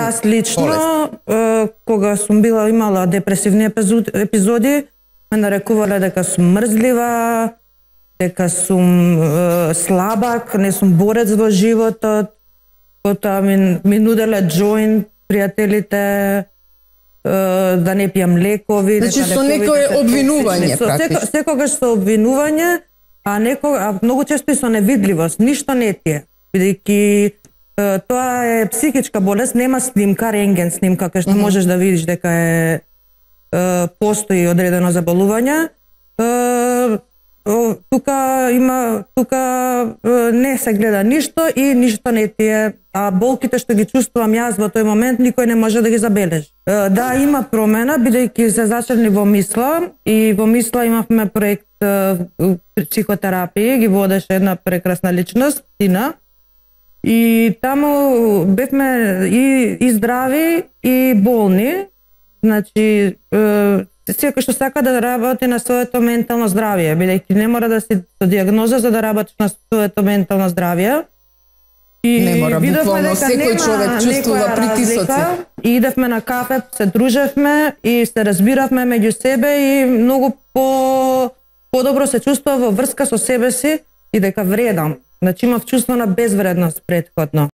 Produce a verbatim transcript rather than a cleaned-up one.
Јас лично, е, кога сум била имала депресивни епизоди, епизоди ме нарекувале дека сум мрзлива, дека сум е, слабак, не сум борец во животот, потоа ми, ми нуделе џоинт пријателите, да не пијам лекови. Значи со некое обвинување практично. Секогаш со обвинување, а некога а многу често и со невидливост, ништо не ти е. Бидејќи тоа е психичка болест, нема снимка, рентген снимка кај што mm-hmm. можеш да видиш дека е, е постои одредено заболување. Е, тука има тука не се гледа ништо и ништо не ти е, а болките што ги чувствувам јас во тој момент никој не може да ги забележи. Да, има промена бидејќи се зачелни во Мисла и во Мисла имавме проект психотерапија, ги водеше една прекрасна личност, Тина. И таму бевме и, и здрави и болни. Значи секој што сака да работи на своето ментално здравје, бидејќи не мора да си со диагноза за да работиш на своето ментално здравје. И не мора, буквално секој човек чувствува притисоци. И идевме на кафе, се дружевме и се разбиравме меѓу себе и многу по подобро се чувствува во врска со себе си и дека вредам. Значи имав чувство на безвредност претходно.